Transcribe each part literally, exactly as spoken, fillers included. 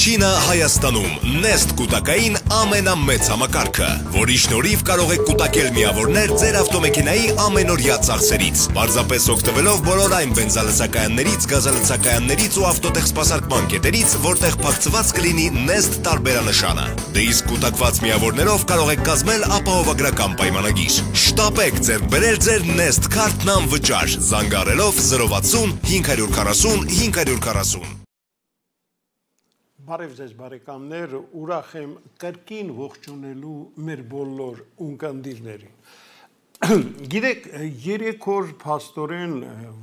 Առաջինը Հայաստանում Nest կուտակային ամենամեծ համակարգը, որի շնորհիվ կարող եք կուտակել միավորներ ձեր ավտոմեքենայի ամենօրյա ծախսերից, պարզապես օգտվելով բոլոր այն բենզալցակայաններից, գազալցակայաններից ու ավտոտեխսպասարկման կետերից, որտեղ փակցված կլինի Nest տարբերանշանը։ Դե իսկ կուտակված միավորներով կարող եք կազմել ապահովագրական պայմանագիր։ Շտապեք ձեռք բերել ձեր Nest քարտն անվճար, զանգահարելով zero վաթսուն հինգ քսան հինգ քսան։ Բարև ձեզ բարեկամներ, ուրախ եմ կրկին ողջունելու մեր բոլոր ունկնդիրներին։ Գիտեք, երեք օր փաստորեն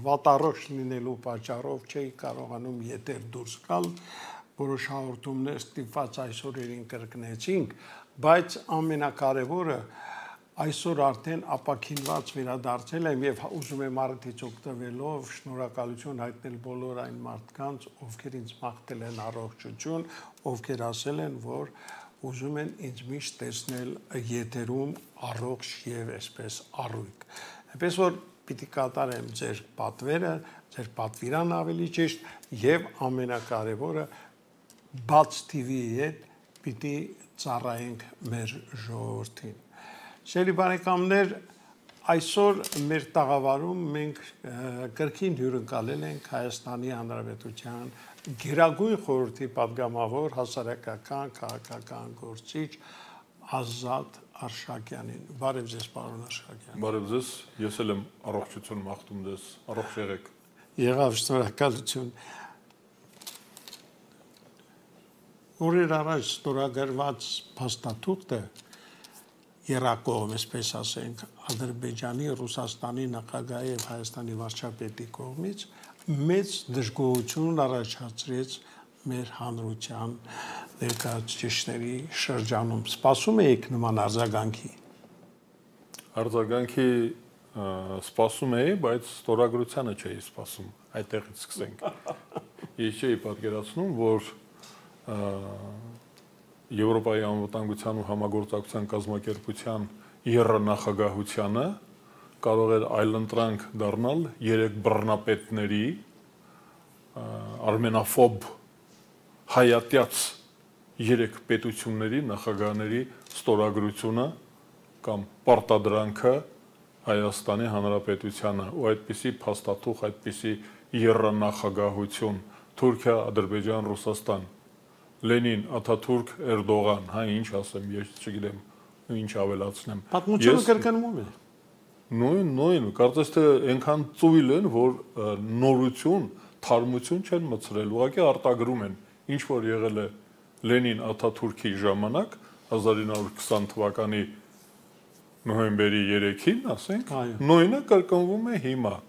վատառողջ լինելու պատճառով չէի կարողանում եթեր դուրս գալ, որոշ հաղորդումներ ստիպված այսօրերին կրկնեցինք, բայց ամենակարևորը այսօր արդեն ապաքինված վերադարձել եմ եւ ուզում եմ արդից օգտվելով շնորհակալություն հայտնել բոլոր այն մարդկանց, ովքեր ինձ մաղթել են առողջություն, ովքեր ասել են, որ ուզում են ինձ միշտ տեսնել եթերում առողջ եւ այսպես առույգ։ Այնպես որ պիտի կատարեմ ձեր պատվերը, ձեր պատվիրան ավելի ճիշտ եւ ամենակարևորը բաց T V-ի հետ պիտի ծառայենք մեր ժողովրդին։ Շելի բարեկամներ, այսօր մեր տաղավարում մենք կրկին հյուրընկալել ենք Հայաստանի Հանրապետության Գերագույն խորհրդի պատգամավոր հասարակական քաղաքական գործիչ Ազատ Արշակյանին։ Բարև ձեզ, պարոն Արշակյան։ Բարև ձեզ, ես էլ եմ առողջություն մաղթում ձեզ, առողջ եղեք։ Եղավ, շնորհակալություն։ Օրեր առաջ ստորագրված փաստաթուղթը Երակողմ, այսպես ասենք, Ադրբեջանի, Ռուսաստանի նախագահի եւ Հայաստանի վարչապետի կողմից մեծ դժգոհություն առաջացրեց մեր հանրության ներկայացուցիչների շրջանում։ Սպասում եք նման արձագանքի։ Արձագանքի սպասում էի, բայց ստորագրությանը չէի սպասում։ Այդտեղից սկսենք։ Ես չէի պատկերացնում, որ Եվրոպայի անվտանգության ու համագործակցության կազմակերպության եռանախագահությանը կարող էր այլընտրանք դառնալ երեք բռնապետների արմենաֆոբ հայատյաց երեք պետությունների նախագահների ստորագրությունը կամ պարտադրանքը Հայաստանի Հանրապետությանը ու այդպիսի փաստաթուղթ, այդպիսի եռանախագահություն Թուրքիա, Ադրբեջան, Ռուսաստան Լենին, Աթաթուրք, Էրդողան, հա ինչ ասեմ, ես չգիտեմ, ինչ ավելացնեմ։ Պատմությունը կրկնվում է։ Նույն, նույն, կարծես թե այնքան ծույլ են, որ նորություն, թարմություն չեն մցրել, ուղղակի արտագրում են, ինչ որ եղել է Լենին, Աթաթուրքի ժամանակ հազար ինը հարյուր քսան թվականի նոյեմբերի երեքին, ասենք, նույնը կրկնվում է հիմա։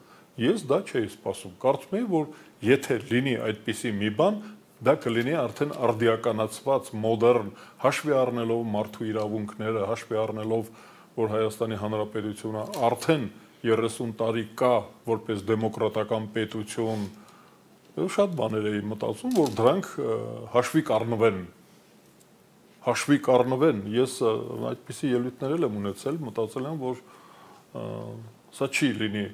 Ես դա չէի սպասում, կարծում եի, որ եթե լինի այդպիսի մի բան, դա կլինի արդեն արդիականացված, մոդեռն, հաշվի առնելով մարդու իրավունքները, հաշվի առնելով, որ Հայաստանի Հանրապետությունը արդեն երեսուն տարի կա, որպես դեմոկրատական պետություն, շատ բաներ էի մտածում, որ դրանք հաշվի կառնվեն, հաշվի կառնվեն, ես այդպիսի ելույթներ եմ ունեցել, մտածել եմ, որ սա չի լինի,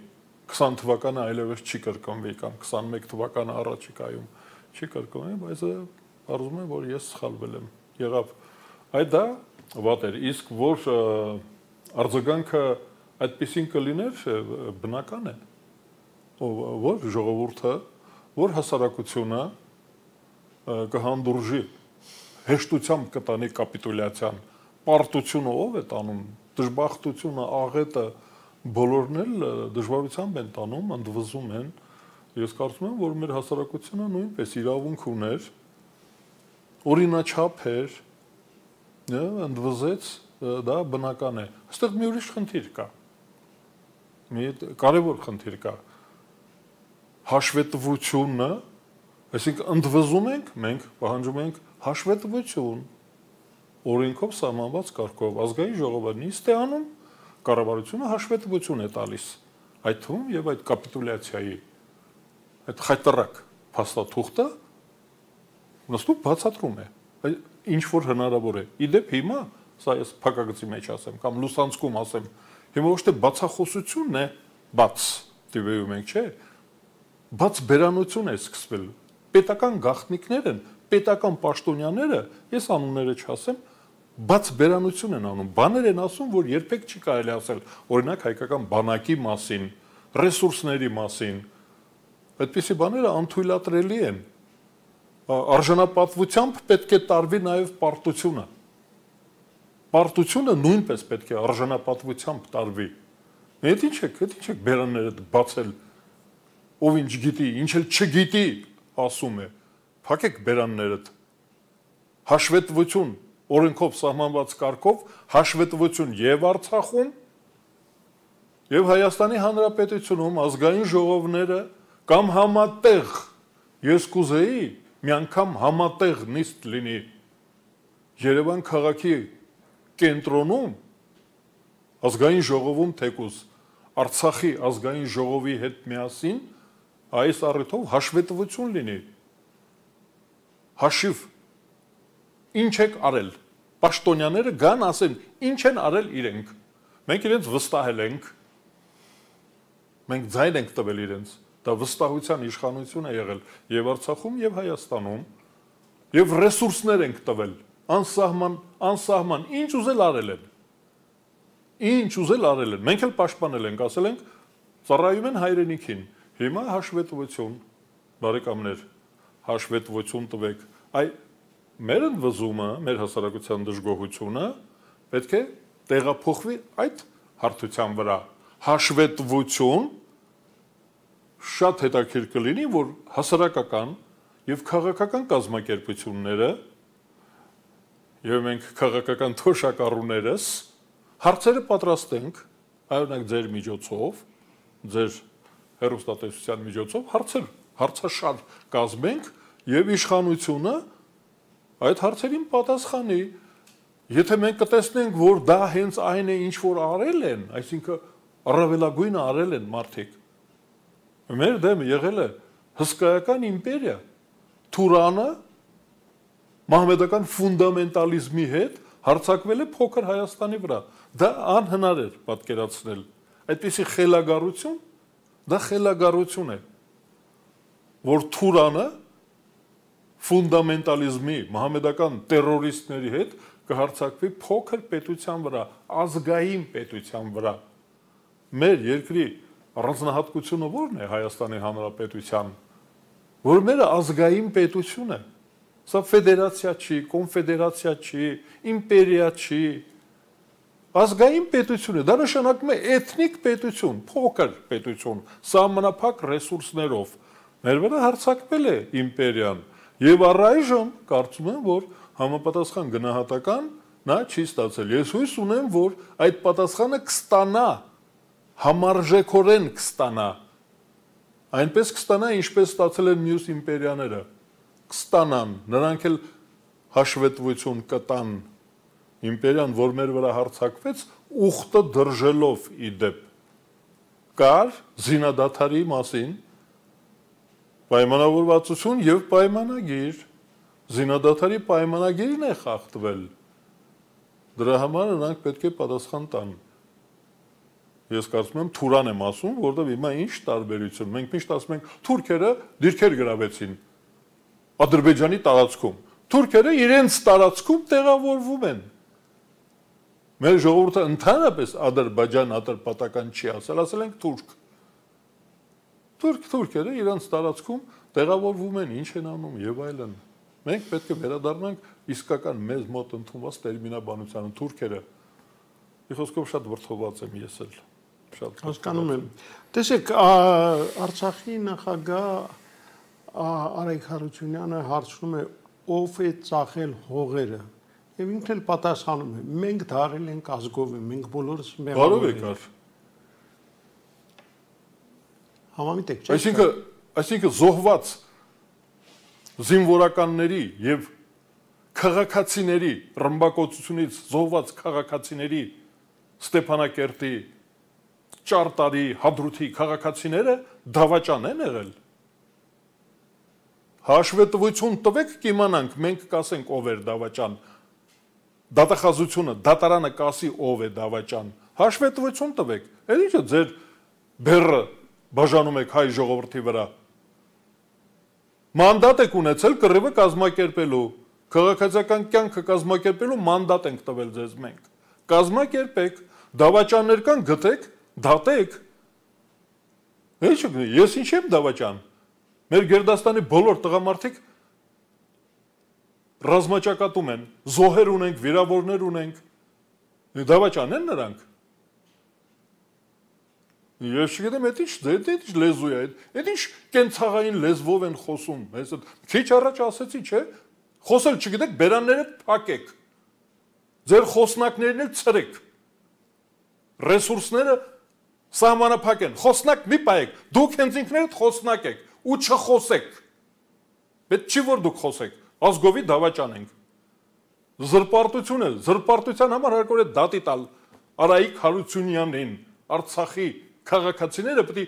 քսան թվականը այլևս չի կրկնվի, կամ քսանմեկ թվականը առաջիկայում չի կրկնվի, բայց պարզվում է, որ ես սխալվել եմ, եղավ, այդ դա վատ էր, իսկ որ արձագանքը այդպիսին կլիներ, բնական է, որ ժողովուրդը, որ հասարակությունը կհանդուրժի, հեշտությամբ կտանի կապիտուլյացիան, պարտությունը ով է տանում, դժբախտությունը, աղետը, բոլորն էլ դժվարությամբ են տանում, ընդվզում են, ես կարծում եմ, որ մեր հասարակությունը նույնպես իրավունք ուներ, օրինաչափ էր, ընդվզեց, դա բնական է, այստեղ մի ուրիշ խնդիր կա, մի կարևոր խնդիր կա, հաշվետվությունը, այսինքն ընդվզում ենք, մենք պահանջում ենք հաշվետվություն, օրենքով սահմանված կարգով, ազգային ժողովը նիստ է անում, կառավարությունը հաշվետվություն է տալիս, այդ թվում եւ այդ կապիտուլյացիայի, այդ խայտարակ փաստաթուղթը նստում բացատրում է, ինչ որ հնարավոր է, իդեպ հիմա, սա ես փակագծի մեջ ասեմ, կամ լուսանցքում ասեմ, հիմա ոչ թե բացախոսությունն է, բաց տիվեում ենք, չէ, բաց բերանություն է սկսվել, պետական գաղտնիքներ են պետական պաշտոնյաները, ես անունները չասեմ, բաց բերանություն են անում, բաներ են ասում, որ երբեք չի կարելի ասել, օրինակ հայկական բանակի մասին, ռեսուրսների մասին, այդպիսի բաները անթույլատրելի են, արժանապատվությամբ պետք է տարվի նաև պարտությունը, պարտությունը նույնպես պետք է արժանապատվությամբ տարվի, այդ ինչ եք, այդ ինչ եք բերանները բացել, ով ինչ գիտի, ինչ էլ չգիտի ասում է, փակեք բերաններդ, հաշվետվություն, օրենքով սահմանված կարգով, հաշվետվություն եւ Արցախում, եւ Հայաստանի Հանրապետությունում ազգային ժողովները կամ համատեղ, ես կուզեի մի անգամ համատեղ նիստ լինի Երևան քաղաքի կենտրոնում, ազգային ժողովում թեկուզ Արցախի ազգային ժողովի հետ միասին այս առիթով հաշվետվություն լինի, հաշիվ, ինչ եք արել, պաշտոնյաները գան ասեն, ինչ են արել իրենք, մենք իրենց վստահել ենք, մենք ձայն ենք տվել իրենց, դա վստահության իշխանություն է եղել և Արցախում և Հայաստանում, և ռեսուրսներ ենք տվել, անսահման, անսահման, ինչ ուզել արել են, ինչ ուզել արել են, մենք էլ պաշտպանել ենք, ասել ենք, ծառայում են հայրենիքին, հիմա հաշվետվություն, բարեկամներ, հաշվետվություն տվեք, այ մեր ընդվզումը, մեր հասարակության դժգոհությունը պետք է տեղափոխվի այդ հարթության վրա, հաշվետվություն, շատ հետաքրքիր կլինի, որ հասարակական և քաղաքական կազմակերպությունները և մենք քաղաքական թոշակառուներս հարցերը պատրաստենք, այօրինակ ձեր միջոցով, ձեր հեռուստատեսության միջոցով հարցեր, հարցաշար կազմենք և իշխանությունը այդ հարցերին պատասխանի, եթե մենք կտեսնենք, որ դա հենց այն է, ինչ որ արել են, այսինքն առավելագույնը արել են մարդիկ, մեր դեմ եղել է հսկայական իմպերիա, Թուրանը մահմեդական ֆունդամենտալիզմի հետ հարձակվել է փոքր Հայաստանի վրա, դա անհնար էր պատկերացնել, այդպիսի խելագարություն, դա խելագարություն է, որ Թուրանը ֆունդամենտալիզմի, մահմեդական տերորիստների հետ կհարձակվի փոքր պետության վրա, ազգային պետության վրա, մեր երկրի առանձնահատկությունը ո՞րն է Հայաստանի Հանրապետության, որ մերը ազգային պետություն է, սա ֆեդերացիա չի, կոնֆեդերացիա չի, իմպերիա չի, ազգային պետություն է, դա նշանակում է էթնիկ պետություն, փոքր պետություն, սահմանափակ ռեսուրսներով, մեր վրա հարձակվել է իմպերիան, և առայժմ կարծում եմ, որ համապատասխան գնահատական նա չի ստացել, ես հույս ունեմ, որ այդ պատասխանը կստանա, համարժեքորեն կստանա, այնպես կստանա, ինչպես ստացել են մյուս իմպերիաները, կստանան, նրանք էլ հաշվետվություն կտան, իմպերիան, որ մեր վրա հարձակվեց, ուխտը դրժելով ի դեպ, կար զինադադարի մասին, պայմանավորվածություն և պայմանագիր, զինադադարի պայմանագիրն է խախտվել, դրա համար նրանք պետք է պատասխան տան, ես կարծում եմ Թուրան եմ ասում, որտեղ հիմա ինչ տարբերություն, մենք միշտ ասում ենք, թուրքերը դիրքեր գրավեցին Ադրբեջանի տարածքում, թուրքերը իրենց տարածքում տեղավորվում են, մեր ժողովուրդը ընդհանրապես Ադրբեջան ատրպատական չի ասել, ասել ենք թուրք, թուրք թուրքերը իրենց տարածքում տեղավորվում են, ինչ են անում և այլն, մենք պետք է վերադառնանք իսկական մեզ մոտ ընդունված տերմինաբանությանը, թուրքերը, ի խոսքով շատ վրդոված եմ ես էլ, հասկանում եմ, տեսեք, Արցախի նախագահ Արայք Հարությունյանը հարցնում է, ով է ծախել հողերը, և ինքն էլ պատասխանում է, մենք դարել ենք ազգովի, մենք բոլորս մեղավոր ենք, համամիտ եք, չէ՞։ Այսինքն զոհված զինվորականների և քաղաքացիների ռմբակոծությունից զոհված քաղաքացիների Ստեփանակերտի, Ճարտարի, Հադրութի քաղաքացիները դավաճան են եղել։ Հաշվետվություն տվեք, կիմանանք, մենք կասենք ով էր դավաճան, դատախազությունը, դատարանը կասի ով է դավաճան, հաշվետվություն տվեք, էլ ինչը ձեր բեռը բաժանում եք հայ ժողովրդի վրա, Մանդատ եք ունեցել կռիվը կազմակերպելու, քաղաքացիական կյանքը կազմակերպելու մանդատ ենք տվել ձեզ մենք։ Կազմակերպեք, դավաճաններ կան, գտեք, դատեք։ Ես ինչ եմ դավաճան։ Մեր Գերդաստանի բոլոր տղամարդիկ ռազմաճակատում են, զոհեր ունենք, վիրավորներ ունենք։ Դավաճան են նրանք։ Ես չգիտեմ, այդ ինչ, այդ ինչ լեզու է, այդ ինչ կենցաղային լեզվով են խոսում։ Քիչ առաջ ասեցի, չէ՞, խոսել չգիտեք, բերանները փակեք։ Ձեր խոսնակներն էլ ցրեք։ Ռեսուրսները սահմանափակ են, խոսնակ մի պայեք, դուք հենց ինքներդ խոսնակ եք ու չխոսեք։ Պետք չի որ դուք խոսեք, ազգովի դավաճան ենք։ Զրպարտությունը, զրպարտության համար հարկոր է դատի տալ Արայիկ Հարությունյանին, Արցախի քաղաքացիները պետք է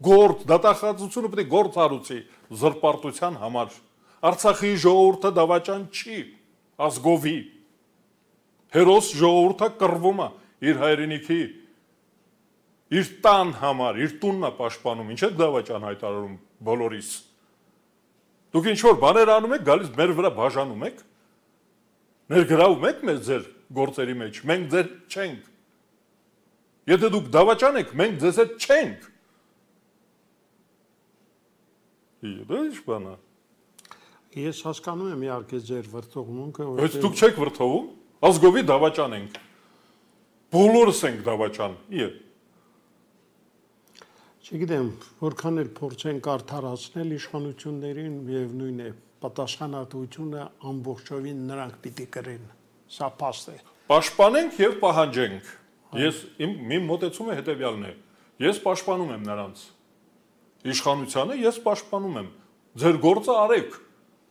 գործ, դատախազությունը պետք է գործ արուցի զրպարտության համար։ Արցախի ժողովուրդը դավաճան չի, ազգովի։ Հերոս ժողովուրդը կռվում է իր հայրենիքի, իր տան համար, իր տունն է պաշտպանում, ինչ է դավաճան հայտարարում բոլորիս։ Դուք ինչ-որ բաներ անում եք, գալիս մեր վրա բաժանում եք, ներգրավում եք մեզ ձեր գործերի մեջ, մենք ձեր չենք։ Եթե դուք դավաճան եք, մենք ձեզ հետ չենք։ Դա ինչ բան է։ Ես հասկանում եմ իհարկե ձեր վրդովմունքը, Բայց դուք չեք վրդովում, ազգովի դավաճան ենք։ Բոլորս ենք դավաճան։ Իե։ Չգիտեմ, որքան էլ փորձենք արդարացնել իշխանություններին, միևնույն է, պատասխանատվությունը ամբողջովին նրանք պիտի կրեն։ Սա փաստ է։ Պաշտպանենք եւ պահանջենք։ Ես իմ մոտեցումը հետեւյալն է։ Ես պաշտպանում եմ նրանց իշխանությանը, ես պաշտպանում եմ։ Ձեր գործը արեք։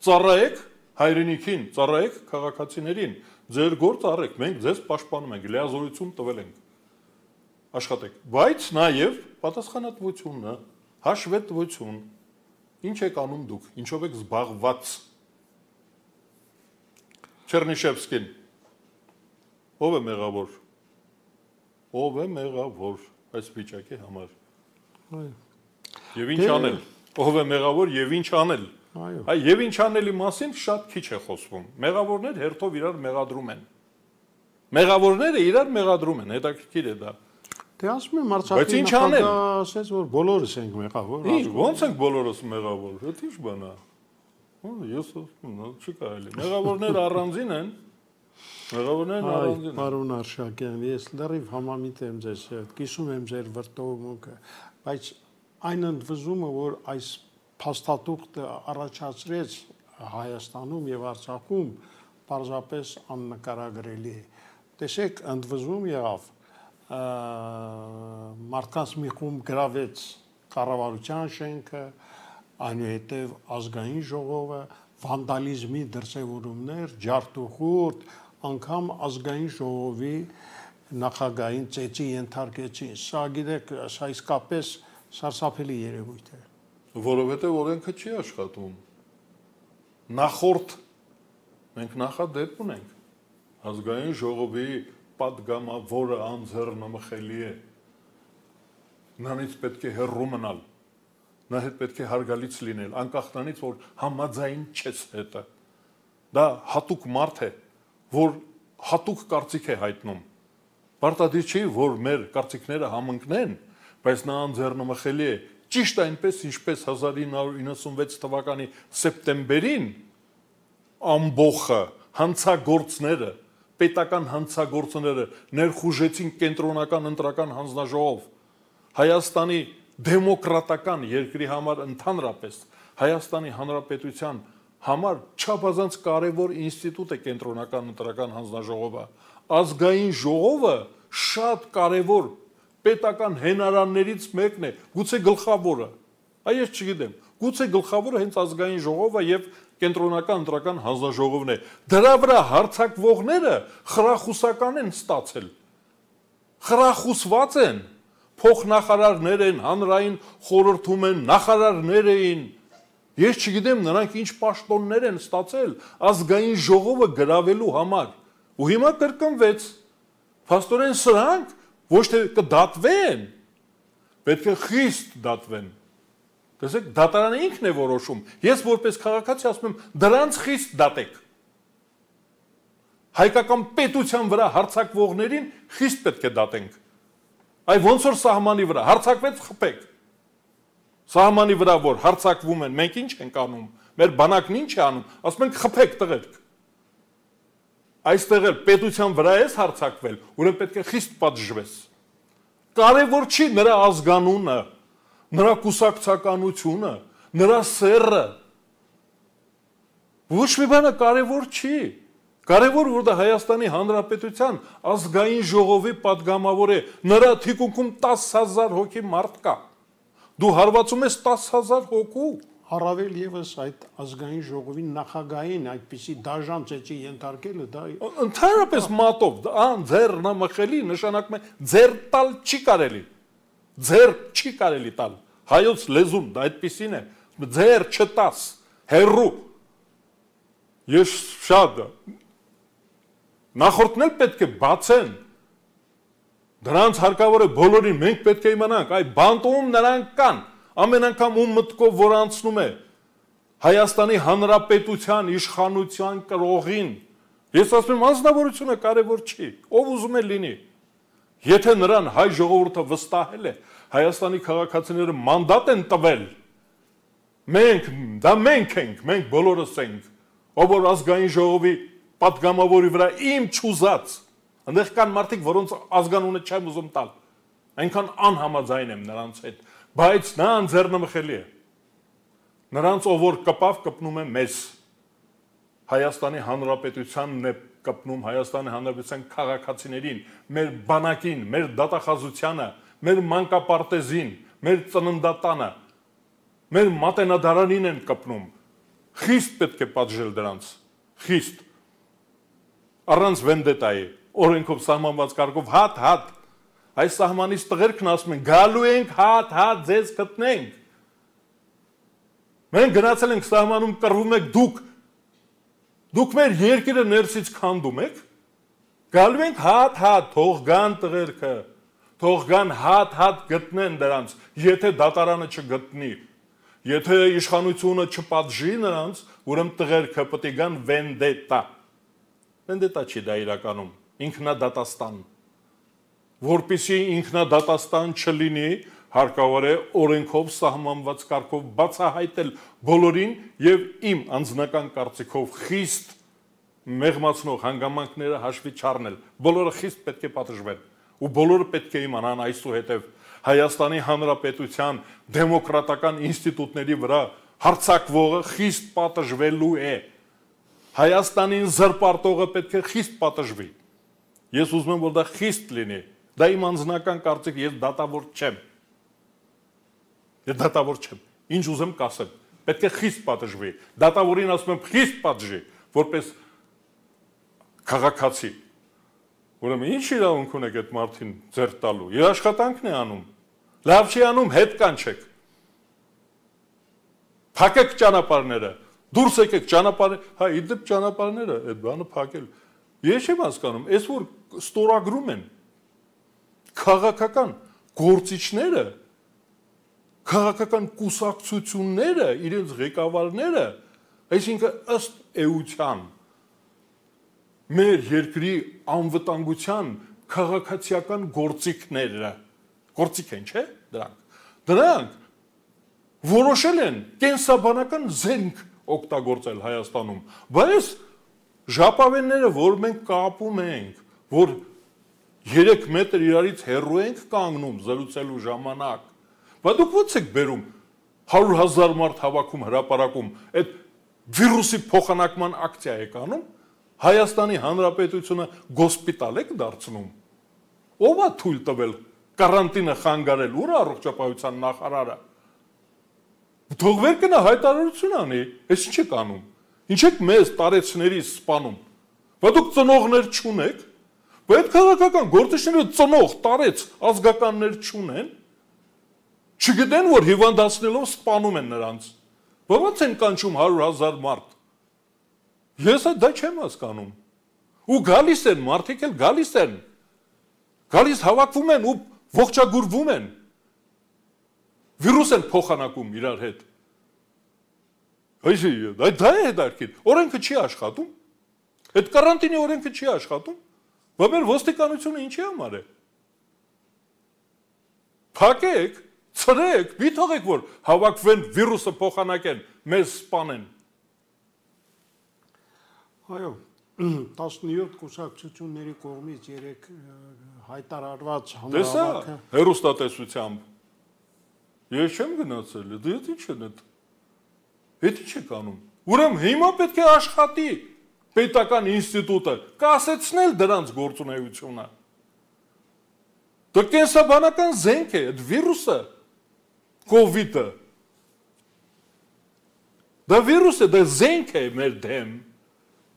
Ծառայեք հայրենիքին, ծառայեք քաղաքացիներին։ Ձեր գործը արեք, մենք ձեզ պաշտպանում ենք, լիազորություն տվել ենք։ Աշխատեք, բայց նաև պատասխանատվությունը, հաշվետվություն, ինչ եք անում դուք, ինչով եք զբաղված։ Չերնիշևսկին, ով է մեղավոր, ով է մեղավոր այս վիճակի համար, և ինչ անել, ով է մեղավոր և ինչ անել, և ինչ անելի մասին շատ քիչ է խոսվում, մեղավորներ հերթով իրար մեղադրում են, մեղավորները իրար մեղադրում են, հետաքրքիր է դա։ Դե ասում եմ Արցախի նախագահը ասեց, որ բոլորս ենք մեղավոր։ Ինչ, ոնց ենք բոլորս մեղավոր, դա ինչ բան է։ Ես ասում եմ, չի կարելի։ Մեղավորները առանձին են։ Մեղավորներն առանձին են։ Պարոն Արշակյան, ես լրիվ համամիտ եմ ձեզ հետ, կիսում եմ ձեր վրդովմունքը, բայց այն ընդվզումը, որ այս փաստաթուղթը առաջացրեց Հայաստանում եւ Արցախում, պարզապես աննկարագրելի է։ Տեսեք, ընդվզում եղավ մարդկանց մի խումբ գրավեց կառավարության շենքը, այնուհետև ազգային ժողովը, վանդալիզմի դրսևորումներ, ջարդուխուրդ, անգամ ազգային ժողովի նախագահին ծեծի ենթարկեցին։ Սա գիտեք, սա իսկապես սարսափելի երևույթ է։ Որովհետև օրենքը չի աշխատում։ Նախորդ մենք նախադեպ ունենք ազգային ժողովի պատգամավորը անձեռնմխելի է, նրանից պետք է հեռու մնալ, նա հետ պետք է հարգալից լինել, անկախ նրանից, որ համաձայն չես հետը, դա հատուկ մարդ է, որ հատուկ կարծիք է հայտնում, պարտադիր չի, որ մեր կարծիքները համընկնեն, բայց նա անձեռնմխելի է, ճիշտ այնպես, ինչպես հազար ինը հարյուր իննսունվեց թվականի սեպտեմբերին ամբողը հանցագործները պետական հանցագործները ներխուժեցին կենտրոնական ընտրական հանձնաժողով Հայաստանի դեմոկրատական երկրի համար ընդհանրապես Հայաստանի Հանրապետության համար չափազանց կարևոր ինստիտուտ է կենտրոնական ընտրական հանձնաժողովը ազգային ժողովը շատ կարևոր պետական հենարաններից մեկն է գուցե գլխավորը այ ես չգիտեմ գուցե գլխավորը հենց ազգային ժողովը եւ կենտրոնական ընտրական հանձնաժողովն է դրա վրա հարցակվողները խրախուսական են ստացել խրախուսված են փոխնախարարներ են հանրային խորհրդում են նախարարներ էին ես չգիտեմ նրանք ինչ պաշտոններ են ստացել ազգային ժողովը գրավելու համար ու հիմա կրկնվեց փաստորեն սրանք ոչ թե կդատվեն պետք է խիստ դատվեն Տեսեք, դատարանը ինքն է որոշում։ Ես որպես քաղաքացի ասում եմ, դրանց խիստ դատեք։ Հայկական պետության վրա հարձակվողներին խիստ պետք է դատենք։ Այ ոնց որ սահմանի վրա հարձակվեց խփեք։ Սահմանի վրա որ հարձակվում են, մենք ինչ ենք անում։ Մեր բանակն ինչ է անում։ Ասում ենք խփեք տղերք։ Այստեղ էլ պետության վրա ես հարձակվել, ուրեմն պետք է խիստ պատժվես։ Կարևոր չի նրա ազգանունը, նրա կուսակցականությունը, նրա սեռը։ Ոչ մի բանը կարևոր չի։ Կարևոր որ դա Հայաստանի Հանրապետության ազգային ժողովի падգամավոր է, նրա թիկունքում տասը հազար հոգի մարդ կա։ Դու հարվածում ես տասը հազար հոգու։ Առավել եւս այդ ազգային ժողովի նախագահին այդպիսի դաժան ծեծի ենթարկելը դա ընդհանրապես մատով, ան ձեր նամախելի նշանակում է ձեր տալ չի կարելի։ Ձեր չի կարելի տալ։ Հայոց լեզուն դա այդպիսին է, ձեր չտաս, հերրու։ Ես շատ նախորդն էլ պետք է բացեն։ Դրանց հարկավոր է բոլորին, մենք պետք է իմանանք, այ բանտում նրանք կան, ամեն անգամ ում մտքով որ անցնում է Հայաստանի Հանրապետության իշխանության կրողին։ Ես ասում եմ, անձնավորությունը կարևոր չի, ով ուզում է լինի։ Եթե նրան հայ ժողովուրդը վստահել է, Հայաստանի քաղաքացիները մանդատ են տվել, մենք, դա մենք ենք, մենք բոլորս ենք, ով որ ազգային ժողովի падգամավորի վրա իմ չուզած, այնտեղ կան մարդիկ, որոնց ազգանունը չեմ ուզում տալ, այնքան անհամաձայն եմ նրանց հետ, բայց նա անձեռնմխելի է, նրանց ով որ կպավ կպնում է մեզ, Հայաստանի Հանրապետությանն է կպնում Հայաստանի Հանրապետության քաղաքացիներին, մեր բանակին, մեր դատախազությանը, մեր մանկապարտեզին, մեր ծննդատանը, մեր մատենադարանին են կպնում, խիստ պետք է պատժել դրանց, խիստ, առանց վենդետայի, օրենքով սահմանված կարգով հատ-հատ, այս սահմանից տղերքն ասում են, գալու ենք հատ-հատ ձեզ գտնենք, մենք գնացել ենք սահմանում կռվում եք դուք, դուք մեր երկիրը ներսից քանդում եք, գալու ենք հատ-հատ, թող գան տղերքը, թող գան հատ-հատ գտնեն դրանց, եթե դատարանը չգտնի, եթե իշխանությունը չպատժի նրանց, ուրեմն տղերքը պետք է գան վենդետա, վենդետա չի դա իրականում, ինքնադատաստան, որպեսզի ինքնադատաստան չլինի, հարկավոր է օրենքով սահմանված կարգով բացահայտել բոլորին եւ իմ անձնական կարծիքով խիստ մեղմացնող հանգամանքները հաշվի չառնել, բոլորը խիստ պետք է պատժվեն ու բոլորը պետք է իմանան այսուհետև Հայաստանի Հանրապետության դեմոկրատական ինստիտուտների վրա հարձակվողը խիստ պատժվելու է, Հայաստանին զրպարտողը պետք է խիստ պատժվի, ես ուզում եմ որ դա խիստ լինի, դա իմ անձնական կարծիք, ես դատավոր չեմ, ես դատավոր չեմ, ինչ ուզեմ կասեմ, պետք է խիստ պատժվի, դատավորին ասում եմ խիստ պատժի, որպես քաղաքացի, ուրեմն ինչ իրավունք ունեք այդ մարդին ձեռք տալու, իր աշխատանքն է անում, լավ չի անում, հետ կանչեք, փակեք ճանապարհները, դուրս եկեք ճանապարհները, հա իդեպ ճանապարհները, այդ բանը փակել, ես չեմ հասկանում, այս որ ստորագրում են քաղաքական գործիչները, քաղաքական կուսակցությունները, իրենց ղեկավարները, այսինքն ըստ էության մեր երկրի անվտանգության քաղաքացիական գործիքները, գործիք են, չէ՞, դրանք, դրանք որոշել են կենսաբանական զենք օգտագործել Հայաստանում, բայց ժապավենները, որ մենք կապում ենք, որ երեք մետր իրարից հեռու ենք կանգնում զրուցելու ժամանակ, բայց դուք ո՞նց եք բերում հարյուր հազար մարդ հավաքում հրապարակում, այդ վիրուսի փոխանակման ակցիա եք անում, Հայաստանի Հանրապետությունը գոսպիտալ եք դարձնում, ով է թույլ տվել կարանտինը խանգարել, ուր է առողջապահության նախարարը, թող վեր կնա հայտարարություն անի, այս ինչ եք անում, ինչ եք մեզ տարեցներից սպանում, բայց դուք ծնողներ չունեք, բայց քաղաքական գործիչները ծնող, տարեց, ազգականներ չունեն, չգիտեն, որ հիվանդացնելով սպանում են նրանց, ո՞նց են կանչում հարյուր հազար մարդ, ես դա չեմ հասկանում, ու գալիս են, մարդիկ էլ գալիս են, գալիս հավաքվում են ու ողջագուրվում են, վիրուս են փոխանակում իրար հետ։ Այսինքն, դա է հետաքրքիր։ Օրենքը չի աշխատում։ Այդ կարանտինի օրենքը չի աշխատում։ Բա մեր ոստիկանությունը ինչի համար է։ Փակեք, ցրեք, մի թողեք որ հավաքվեն վիրուսը փոխանակեն, մեզ սպանեն։ Այո, տասնյոթ կուսակցությունների կողմից երեք հայտարարված հանրահավաքը հերոստատեսությամբ ես չեմ գնացել, դե ինչ են այդ։ Այդ ինչ եք անում։ Ուրեմն հիմա պետք է աշխատի պետական ինստիտուտը, կասեցնել դրանց գործունեությունը։ Դա կենսաբանական զենք է, այդ վիրուսը, կովիդը։ Դա վիրուս է, դա զենք է մեր դեմ։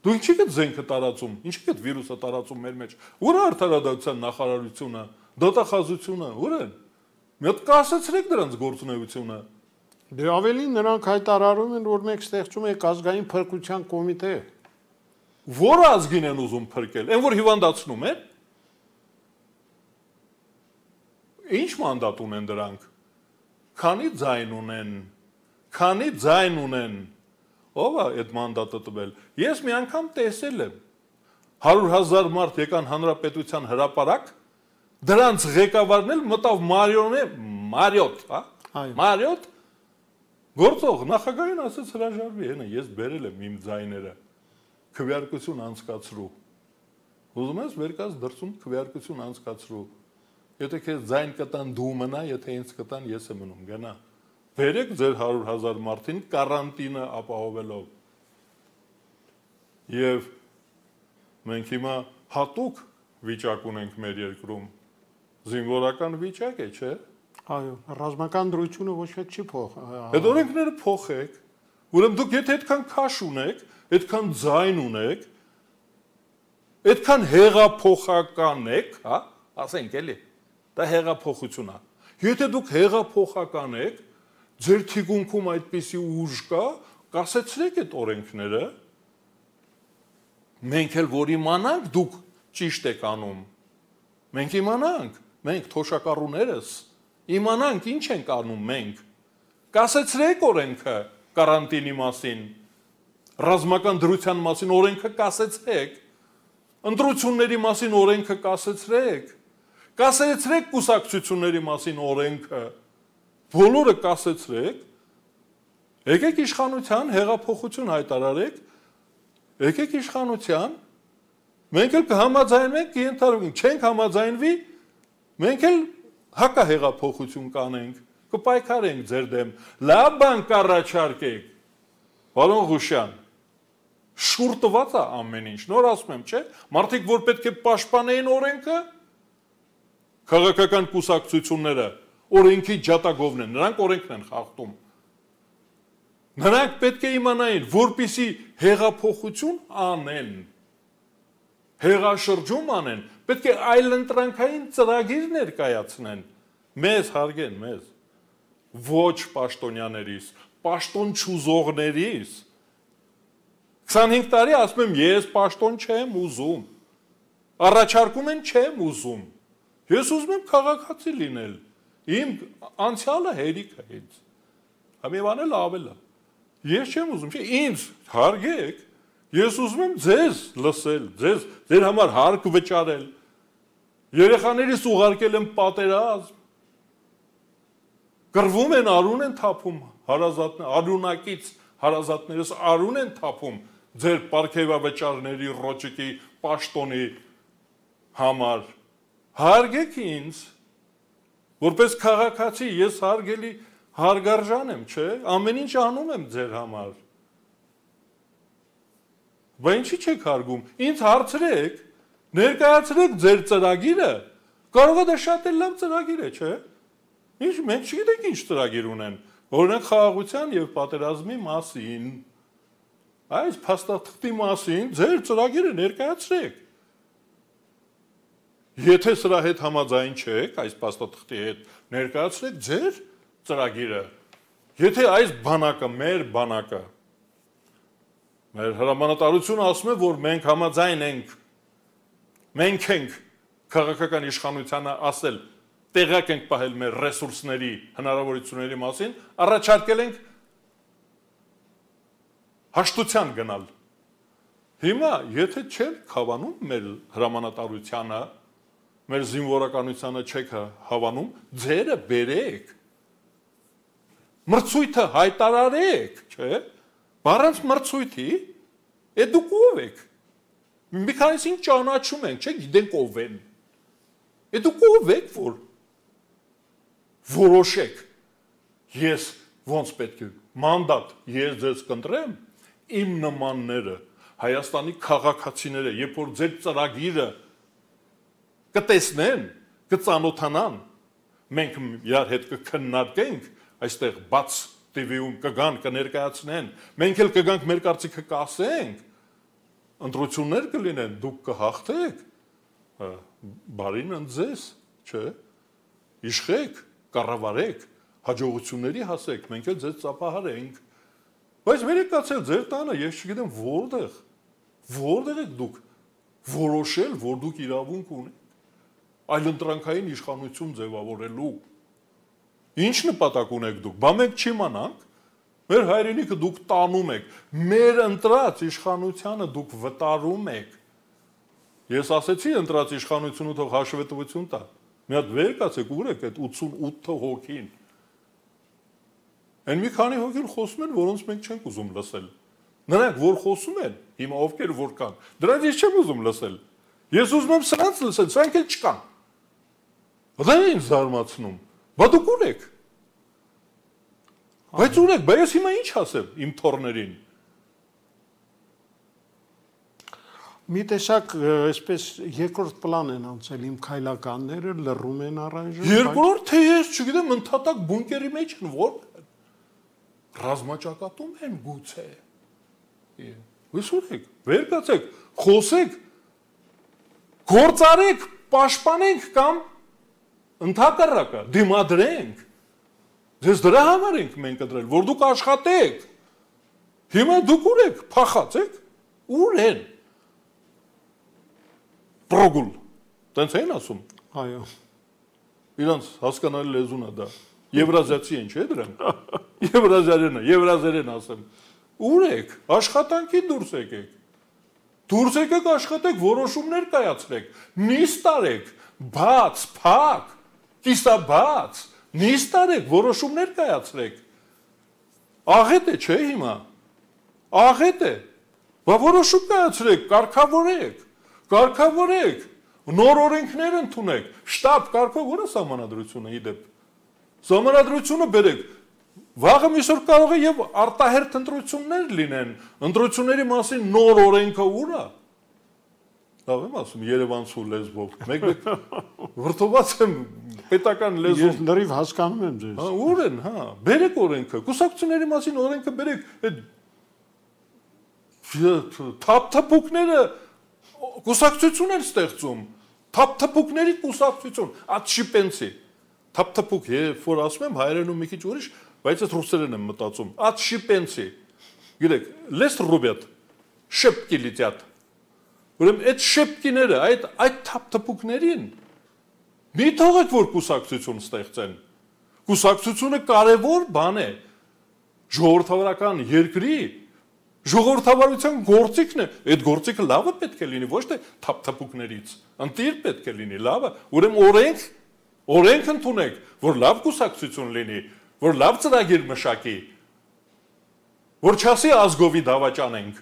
Դու ինչի՞ կդ զենքը տարածում, ինչի՞ կդ վիրուսը տարածում մեր մեջ։ Ուր է արդարադատության նախարարությունը, դատախազությունը, ուր են։ Մի հատ կասեցրեք դրանց գործունեությունը։ Դե ավելի նրանք հայտարարում են, որ մենք ստեղծում ենք ազգային փրկության կոմիտե։ Որ ազգին են ուզում փրկել, այն որ հիվանդացնում են։ Ինչ մանդատ ունեն դրանք։ Քանի ձայն ունեն, քանի ձայն ունեն։ Ով է այդ մանդատը տվել։ Ես մի անգամ տեսել եմ հարյուր հազար մարդ եկան հանրապետության հրապարակ, դրանց ղեկավարն էլ մտավ Մարիոնե, Մարիոտ, հա? Մարիոտ գործող նախագահին ասաց հրաժարվի, հենա ես բերել եմ իմ ձայները, քվեարկություն անցկացրու։ Ուզում ես վերկաց դրսում քվեարկություն անցկացրու։ Եթե քեզ ձայն կտան դու մնա, եթե ինձ կտան ես եմ մնում, գնա։ Բերեք ձեր հարյուր հազար մարդին կարանտինը ապահովելով։ Եվ մենք հիմա հատուկ վիճակ ունենք մեր երկրում, զինվորական վիճակ է, չէ՞։ Այո, ռազմական դրությունը ոչ մեկ չի փոխ։ Այդ օրենքները փոխեք, ուրեմն դուք եթե այդքան քաշ ունեք, այդքան ձայն ունեք, այդքան հեղափոխական եք, հա, ասենք էլի, դա հեղափոխություն է։ Եթե դուք հեղափոխական եք, ձեր թիկունքում այդպիսի ուժ կա, կասեցրեք այդ օրենքները, մենք էլ որ իմանանք դուք ճիշտ եք անում, մենք իմանանք, մենք թոշակառուներս, իմանանք ինչ ենք անում մենք, կասեցրեք օրենքը կարանտինի մասին, ռազմական դրության մասին օրենքը կասեցրեք, ընտրությունների մասին օրենքը կասեցրեք, կասեցրեք կուսակցությունների մասին օրենքը, բոլորը կասեցրեք, եկեք իշխանության հեղափոխություն հայտարարեք, եկեք իշխանության, մենք էլ կհամաձայնենք, կենթարկենք, չենք համաձայնվի, մենք էլ հակահեղափոխություն կանենք, կպայքարենք ձեր դեմ, լավ բան կառաջարկեք, պարոն Ղուշյան, շուռ տված է ամեն ինչ, նոր ասում եմ, չէ, մարդիկ որ պետք է պաշտպանեին օրենքը, քաղաքական կուսակցությունները օրենքի ջատագովն են, նրանք օրենքն են խախտում։ Նրանք պետք է իմանային, որպիսի հեղափոխություն անեն, հեղաշրջում անեն, պետք է այլընտրանքային ծրագիր ներկայացնեն, մեզ հարգեն, մեզ, ոչ պաշտոնյաներիս, պաշտոն չուզողներիս։ քսանհինգ տարի ասում եմ, ես պաշտոն չեմ ուզում, առաջարկում են չեմ ուզում, ես ուզում եմ քաղաքացի լինել, իմ անցյալը հերիք է ինձ, համիվան էլ ավել է, ես չեմ ուզում, չէ, ինձ հարգեք, ես ուզում եմ ձեզ լսել, ձեզ, ձեր համար հարկ վճարել, երեխաներիս ուղարկել եմ պատերազմ, կռվում են, արուն են թափում, արունակից հարազատներս արուն են թափում, ձեր պարգևավճարների ռոճիկի պաշտոնի համար, հարգեք ինձ, որպես քաղաքացի ես հարգելի հարգարժան եմ, չէ, ամեն ինչ անում եմ ձեր համար, բա ինչի չեք հարգում, ինձ հարցրեք, ներկայացրեք ձեր ծրագիրը, կարող է դա շատ էլ լավ ծրագիր է, չէ, ինչ, մենք չգիտենք ինչ ծրագիր ունեն, օրինակ խաղաղության և պատերազմի մասին, այս փաստաթղթի մասին ձեր ծրագիրը ներկայացրեք, եթե սրա հետ համաձայն չեք, այս փաստաթղթի հետ ներկայացրեք ձեր ծրագիրը, եթե այս բանակը, մեր բանակը, մեր հրամանատարությունը ասում է, որ մենք համաձայն ենք, մենք ենք քաղաքական իշխանությանը ասել, տեղակ ենք պահել մեր ռեսուրսների, հնարավորությունների մասին, առաջարկել ենք հաշտության գնալ։ Հիմա, եթե չեք հավանում մեր հրամանատարությանը, մեր զինվորականությանը չեք հավանում, ձերը բերեք, մրցույթը հայտարարեք, չէ՞, բառանց մրցույթի, է դուք ով եք, մի քանիսին ճանաչում ենք, չէ՞, գիտենք ով են, է դուք ով եք, որ որոշեք, ես ոնց պետք է, մանդատ, ես ձեզ կընտրեմ, իմ նմանները, Հայաստանի քաղաքացիները, երբ որ ձեր ծրագիրը կտեսնեն, կծանոթանան, մենք իրար հետ կքննարկենք, այստեղ բաց տիվիում կգան, կներկայացնեն, մենք էլ կգանք մեր կարծիքը կասենք, ընտրություններ կլինեն, դուք կհաղթեք, բարին ընձեզ, չէ, իշխեք, կառավարեք, հաջողությունների հասեք, մենք էլ ձեզ ծափահարենք, բայց մեր եկացել ձեր տանը, ես չգիտեմ որտեղ, որտեղ եք դուք որոշել, որ դուք իրավունք ունեք, այլընտրանքային իշխանություն ձևավորելու, ինչ նպատակ ունեք դուք, բա մենք չիմանանք, մեր հայրենիքը դուք տանում եք, մեր ընտրած իշխանությանը դուք վտարում եք, ես ասեցի ընտրած իշխանությունը թող հաշվետվություն տա, մի հատ վեր կացեք ուր եք այդ ութսունութ հոգին, այն մի քանի հոգին խոսում են, որոնց մենք չենք ուզում լսել, նրանք որ խոսում են, հիմա ովքեր որ կան, դրանց ես չեմ ուզում լսել, ես ուզում եմ սրանց լսել, սրանք էլ չկան, դա է ինձ զարմացնում, բա դուք ուր եք, բայց ուր եք, բա ես հիմա ինչ ասեմ իմ թոռներին, մի տեսակ այսպես երկրորդ պլան են անցել իմ քայլականները, լռում են առայժմ, երկրորդ թե ես չգիտեմ ընդհատակ բունկերի մեջ են, որ ռազմաճակատում են գուցե, ես ուր եք, վեր կացեք, խոսեք, գործարեք, պաշտպանենք կամ ընդհակառակը, դիմադրենք, ձեզ դրա համար ենք մենք ընտրել, որ դուք աշխատեք, հիմա դուք ուր եք, փախած եք, ուր են, պրոգուլ, տենց էին ասում, այո, իրանց հասկանալի լեզուն է դա, եվրազիացի են չէ դրանք, եվրազիարենը, եվրազերեն ասեմ, ուր եք, աշխատանքի դուրս եկեք, դուրս եկեք աշխատեք, որոշումներ կայացրեք, նիստ արեք, բաց, փակ, կիսաբաց, նիստ արեք, որոշումներ կայացրեք, աղետ է չէ հիմա, աղետ է, բա որոշում կայացրեք, կարգավորեք, կարգավորեք, նոր օրենքներ ընդունեք, շտապ կարգով որը սահմանադրությունը իդեպ, սահմանադրությունը բերեք, վաղը միսօր կարող է եւ արտահերթ ընտրություններ լինեն, ընտրությունների մասին նոր օրենքը ուր է, լավ եմ ասում երևանցու լեզվով, մեկ-մեկ վրդոված եմ պետական լեզվով, ես լրիվ հասկանում եմ ձեզ, ուր են, հա, բերեք օրենքը, կուսակցությունների մասին օրենքը բերեք, թափթփուկները կուսակցություն են ստեղծում, թափթփուկների կուսակցություն, այդ շիպենցի, թափթփուկ, երբ որ ասում եմ հայերենում մի քիչ ուրիշ, բայց այդ ռուսերեն եմ մտածում, այդ շիպենցի, գիտեք, լես ռուբյատ, շեպկի լիտյատ, ուրեմն այդ շեպկիները, այդ թափթփուկներին, մի թողեք, որ կուսակցություն ստեղծեն, կուսակցությունը կարևոր բան է, ժողովրդավարական երկրի, ժողովրդավարության գործիքն է, այդ գործիքը լավը պետք է լինի, ոչ թե թափթփուկներից, ընտիր պետք է լինի, լավը, ուրեմն օրենք, օրենք ընդունեք, որ լավ կուսակցություն լինի, որ լավ ծրագիր մշակի, որ չասի ազգովի դավաճանենք,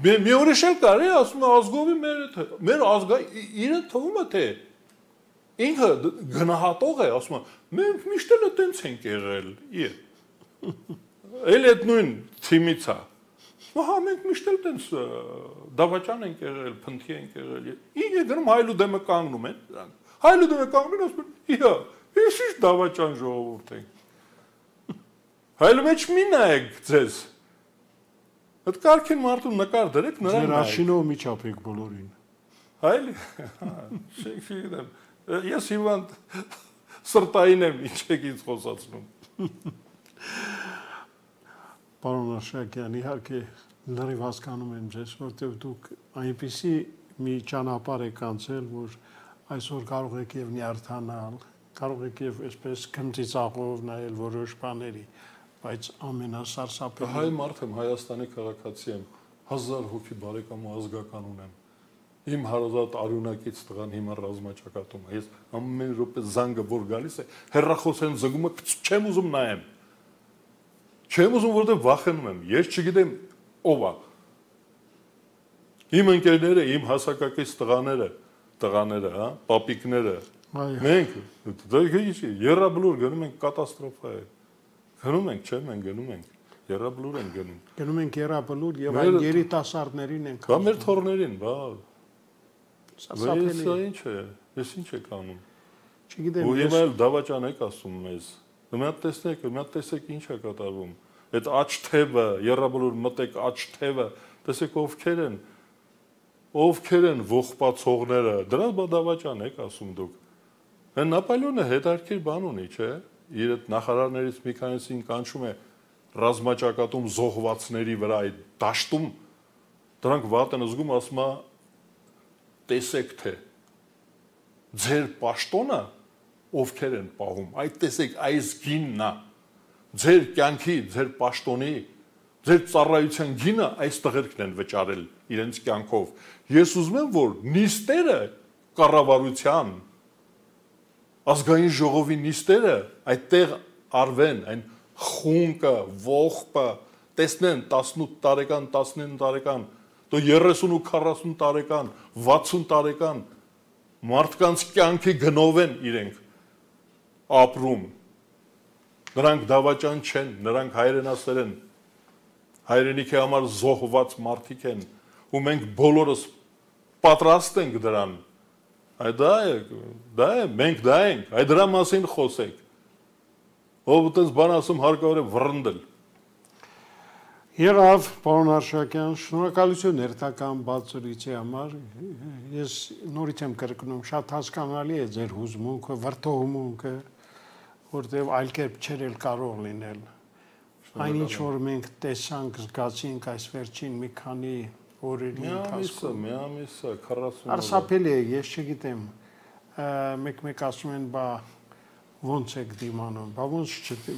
մի ուրիշ էլ կարի ասում է ազգովի մեր ազգա, իրը թվում է թե, ինքը գնահատող է, ասում է, մենք միշտ էլ տենց ենք եղել, էլ այդ նույն թիմից է, հա մենք միշտ էլ տենց դավաճան ենք եղել, փնթի ենք եղել, ինք է գնում հայլու դեմը կանգնում են, հայլու դեմը կանգնում են, ասում են, իհա, ես ինչ դավաճան ժողովուրդ ենք, հայլու մեջ մի նայեք ձեզ, այդ կարգին մարդու նկար դրեք նրան նայեք, ձեր աշինով մի չապեք բոլորին, հայլի, շենք շիգդեմ, ես հիվանդ սրտային եմ, ինչ եք ինձ խոսացնում, Պարոն Աշակյան, իհարկե լրիվ հասկանում եմ ձեզ, որտեղ դուք այնպիսի մի ճանապարհ եք անցել, որ այսօր կարող եք եւ նյարդանալ, կարող եք եւ այսպես քմծիծաղով նայել որոշ բաների, բայց ամենասարսափելի հայ մարդ եմ, Հայաստանի քաղաքացի եմ, հազար հոգի բարեկամ ու ազգական ունեմ։ Իմ հարազատ արյունակից տղան հիմա ռազմաճակատում է։ Ես ամեն րոպե զանգը որ գալիս է, հեռախոսեն զանգումը չեմ ուզում նայեմ։ Չեմ ուզում, որտեղ վախենում եմ։ Ես չգիտեմ ով է։ Իմ ընկերները, իմ հասակակից տղաները, տղաները, հա, պապիկները։ Մենք դա երրաբլուր գնում ենք կատաստրոֆա է։ Գնում ենք, չէ՞, մենք գնում ենք։ Երրաբլուր ենք գնում։ Գնում ենք երրաբլուր եւ այն երիտասարդներին ենք։ Բա մեր թորներին, բա։ Սասափելի։ Դա ինչ է։ Ես ինչ եք անում։ Չգիտեմ, ու հիմա էլ դավաճան եք ասում մեզ։ Մի հատ տեսնեք, մի հատ տեսեք ինչ է կատարվում։ Այդ աչ թևը, երրաբլուր մտեք աչ թևը, տեսեք ովքեր են։ Ովքեր են ողբացողները, դրանց բա դավաճան եք ասում դուք։ Հեն Նապոլեոնը հետարքիր բան ունի, չէ՞։ Իր այդ նախարարներից մի քանիսին կանչում է ռազմաճակատում զոհվածների վրա այդ դաշտում դրանք վատ են զգում, ասում է տեսեք թե ձեր պաշտոնը ովքեր են պահում, այդ տեսեք այս գինն է, ձեր կյանքի, ձեր պաշտոնի, ձեր ծառայության գինը այս տղերքն են վճարել իրենց կյանքով։ Ես ուզում եմ, որ նիստերը կառավարության ազգային ժողովի նիստերը այդտեղ արվեն, այն խունկը, ողբը, տեսնեն տասնութ տարեկան, տասնինը տարեկան, դու երեսուն ու քառասուն տարեկան, վաթսուն տարեկան մարդկանց կյանքի գնով են իրենք ապրում։ Նրանք դավաճան չեն, նրանք հայրենասեր են, հայրենիքի համար զոհված մարդիկ են, ու մենք բոլորս պատրաստ ենք դրան։ Այդ դա է, դա է, մենք դա ենք, այդ դրա մասին խոսեք։ Ով այդպես բան ասում հարկավոր է վռնդել։ Եղավ, պարոն Արշակյան, շնորհակալություն հերթական բացառիչի համար։ Ես նորից եմ կրկնում, շատ հասկանալի է ձեր հուզմունքը, վրդովմունքը, որտեղ այլ կերպ չէր էլ կարող լինել։ Այնինչ որ մենք տեսանք, զգացինք այս վերջին մի քանի օրերի ընթացքում։ Մի ամիսը, քառասուն օր։ Սարսափելի է, ես չգիտեմ, մեկ-մեկ ասում են, բա ոնց եք դիմանում, բա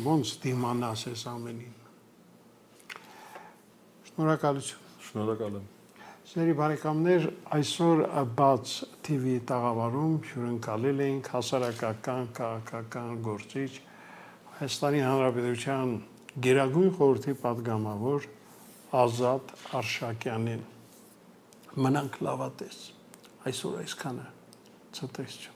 ոնց դիմանաս ես ամենին։ Շնորհակալություն։ Շնորհակալ եմ։ Սիրելի բարեկամներ, այսօր բաց T V տաղավարում հյուրընկալել էինք հասարակական, քաղաքական գործիչ Հայաստանի Հանրապետության Գերագույն խորհրդի պատգամավոր Ազատ Արշակյանին։ Մնանք լավատես։ Այսօր այսքանը։ Ցտեսություն։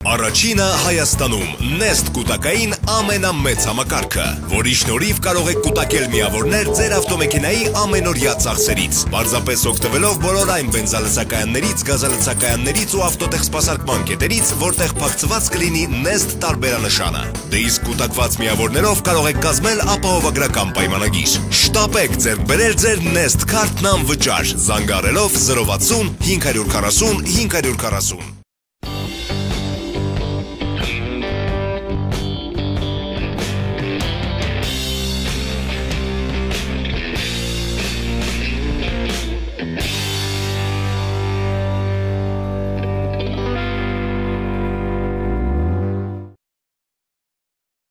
Առաջինը Հայաստանում Nest կուտակային ամենամեծ համակարգը, որի շնորհիվ կարող եք կուտակել միավորներ ձեր ավտոմեքենայի ամենօրյա ծախսերից, պարզապես օգտվելով բոլոր այն բենզալցակայաններից, գազալցակայաններից ու ավտոտեխսպասարկման կետերից, որտեղ փակցված կլինի Nest տարբերանշանը։ Դե իսկ կուտակված միավորներով կարող եք կազմել ապահովագրական պայմանագիր։ Շտապեք ձեռք բերել ձեր Nest քարտն անվճար, զանգահարելով զրո վաթսուն հինգ հարյուր քառասուն հինգ հարյուր քառասուն։